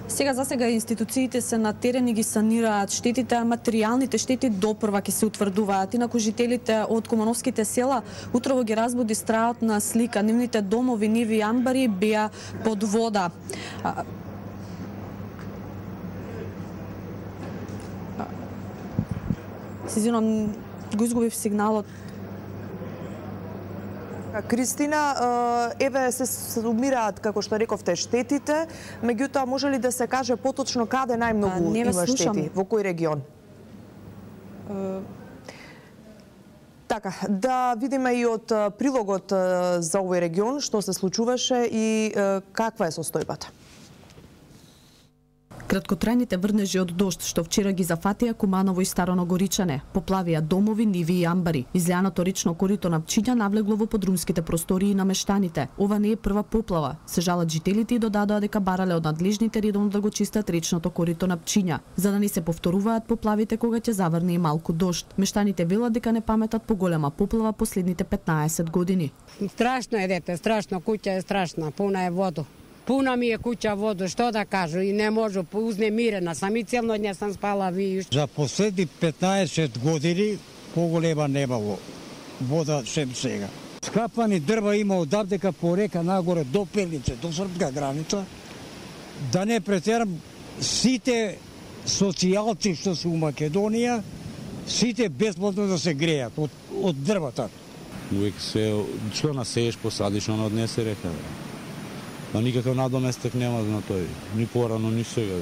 За сега институциите се на терен и ги санираат штетите, а материјалните штети допрва ќе се утврдуваат. Инаку жителите од кумановските села утрово ги разбуди страот на слика. Нивните домови, ниви и амбари беа под вода. Се извинувам, го изгубив сигналот. Кристина, еве се сумираат, како што рековте, штетите, меѓутоа може ли да се каже поточно каде најмногу има штети, во кој регион? Така, да видиме и од прилогот за овој регион што се случуваше и каква е состојбата. Краткотрајните врнежи од дожд што вчера ги зафатија Куманово и Старо Горичане, поплавија домови, ниви и амбари. Излеаното речно корито на Пчиња навлегло во подрумските простории на мештаните. Ова не е прва поплава. Се жалат жителите и додадоа дека барале од надлежните редовно да го чистат речното корито на Пчиња, за да не се повторуваат поплавите кога ќе заврне и малку дожд. Мештаните велат дека не паметат поголема поплава последните 15 години. Страшно е, дете, страшно, куќа е страшна, пуна е вода. Пуна ми е куќа вода, што да кажу, и не можу, узнемирена сам и целно дне сам спала вијуш. За последни 15 години поголема немало вода шем сега. Скапани дрва има одавдека по река нагоре до Пелнице, до српска граница. Да не претерам, сите социјалци што се у Македонија, сите бесплатно да се грејат од дрвата. Увек се, што насееш, посадиш, оно однесе река. Но никаков надоместек нема на тој, ни порано, ни сега.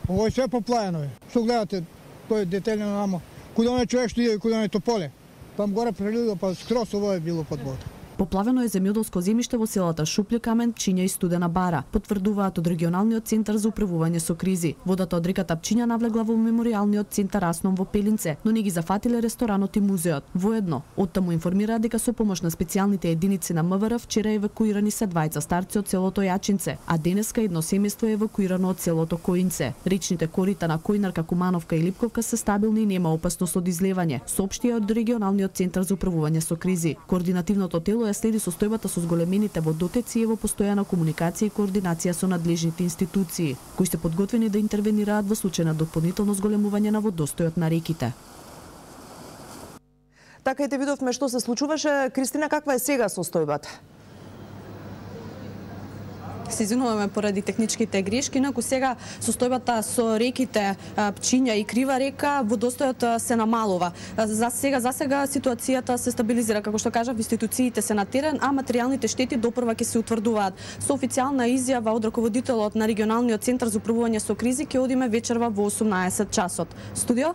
Ово е све поплаено е. Што гледате, тој детелјно намо. Куда не човек што иде и куда не тополе. Там горе прелило, па скрос ово е било под вода. Поплавено е земјоделско земјиште во селата Шуплје Камен, Пчиња и Студена Бара, потврдуваат од регионалниот центар за управување со кризи. Водата од реката Пчиња навлегла во меморијалниот центар Асном во Пелинце, но не ги зафатиле ресторанот и музеот. Воедно, оттаму информираат дека со помош на специјалните единици на МВР вчера евакуирани се двајца старци од селото Јачинце, а денеска едно семејство е евакуирано од селото Коинце. Речните корита на Којнарка, Кумановка и Липковка се стабилни и нема опасност од излевање, соопштија од регионалниот центар за управување со кризи. Координативното тело ја следи состојбата со зголемените водотеци и во постојана комуникација и координација со надлежните институции, кои се подготвени да интервенираат во случај на дополнително зголемување на водостојот на реките. Така и те видовме што се случуваше. Кристина, каква е сега состојбата? Се извинуваме поради техничките грешки, инаку сега состојбата со реките Пчиња и Крива река, водостојот се намалува. За сега ситуацијата се стабилизира, како што кажав, институциите се на терен, а материјалните штети допрва ќе се утврдуваат. Со официјална изјава од раководителот на регионалниот центар за управување со кризи ќе одиме вечерва во 18 часот. Студио?